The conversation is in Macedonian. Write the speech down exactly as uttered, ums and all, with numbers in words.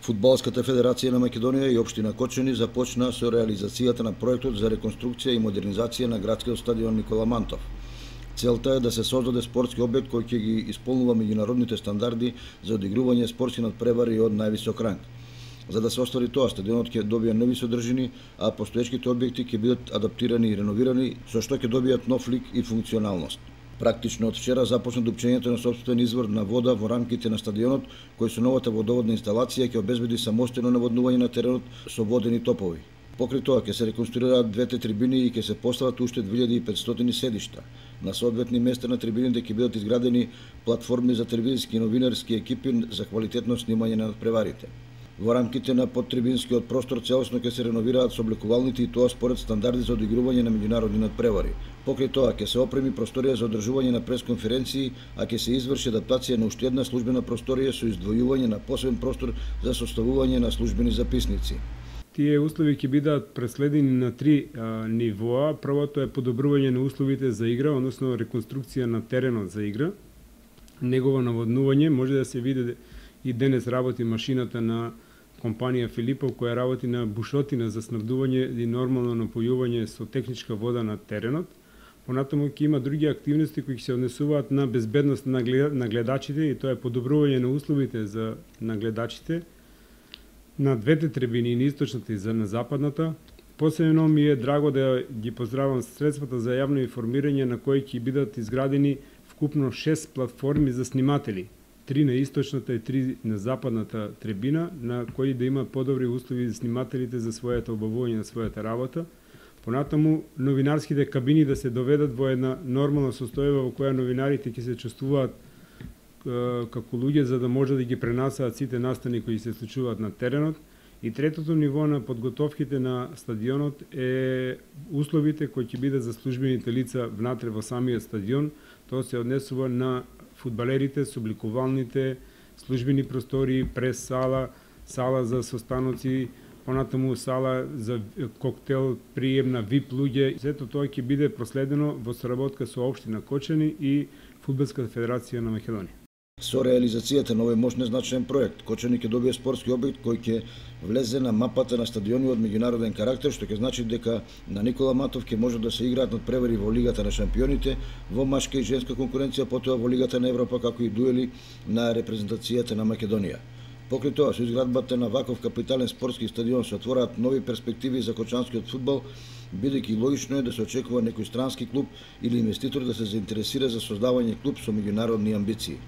Фудбалската федерација на Македонија и општина Кочани започна со реализацијата на проектот за реконструкција и модернизација на градскиот стадион Никола Мантов. Целта е да се создаде спортски објект кој ќе ги исполнува меѓународните стандарди за одигрување спортски надпревари од највисок ранг. За да се оствари тоа, стадионот ќе добие нови содржини, а постоечките објекти ќе бидат адаптирани и реновирани, со што ќе добијат нов лик и функционалност. Практично од вчера започна дупчењето на сопствен извор на вода во рамките на стадионот, кој со новата водоводна инсталација ќе обезбеди самостојно наводнување на теренот со водени топови. Покрај тоа ќе се реконструираат двете трибини и ќе се постават уште две илјади и петстотини седишта. На соодветни места на трибините ќе бидат изградени платформи за телевизиски и новинарски екипи за квалитетно снимање на надпреварите. Во рамките на подтрибинскиот простор целосно ќе се реновираат собликувалните и тоа според стандарди за одигрување на меѓународни надпревари. Покрај тоа ќе се опреми просторија за одржување на пресконференции, а ќе се изврши адаптација на уште една службена просторија со издвојување на посебен простор за составување на службени записници. Тие услови ќе бидат преследени на три а, нивоа. Првото е подобрување на условите за игра, односно реконструкција на теренот за игра. Негово наводнување може да се види и денес работи машината на компанија Филипов која работи на бушотина за снабдување и нормално напојување со техничка вода на теренот. Понатаму ќе има други активности кои ќе се однесуваат на безбедност на гледачите и тоа е подобрување на условите за нагледачите на двете трибини, на источната и на западната. Посебно ми е драго да ги поздравам средствата за јавно информирање на кои ќе бидат изградени вкупно шест платформи за сниматели. Три на источната и три на западната трибина, на кои да има подобри услови за снимателите за својата обавување на својата работа. Понатаму, новинарските кабини да се доведат во една нормална состојба во која новинарите ќе се чувствуваат е, како луѓе за да може да ги пренасаат сите настани кои се случуваат на теренот. И третото ниво на подготовките на стадионот е условите кои ќе бидат за службените лица внатре во самиот стадион. Тоа се однесува на фудбалерите, собликувалните, службени простори, прес сала, сала за состаноци, понатаму сала за коктел, прием на вип луѓе. Сето тоа ќе биде проследено во соработка со општина Кочани и Фудбалската федерација на Македонија. Со реализацијата на овој мощен значаен проект, Кочани ќе добие спортски објект кој ќе влезе на мапата на стадиони од меѓународен карактер, што ќе значи дека на Никола Мантов ќе може да се играат надпревари во Лигата на шампионите, во машка и женска конкуренција, потоа во Лигата на Европа, како и дуели на репрезентацијата на Македонија. Покрај тоа, со изградбата на ваков капитален спортски стадион се отвораат нови перспективи за кочанскиот фудбал, бидејќи логично е да се очекува некој странски клуб или инвеститор да се заинтересира за создавање клуб со меѓународни амбиции.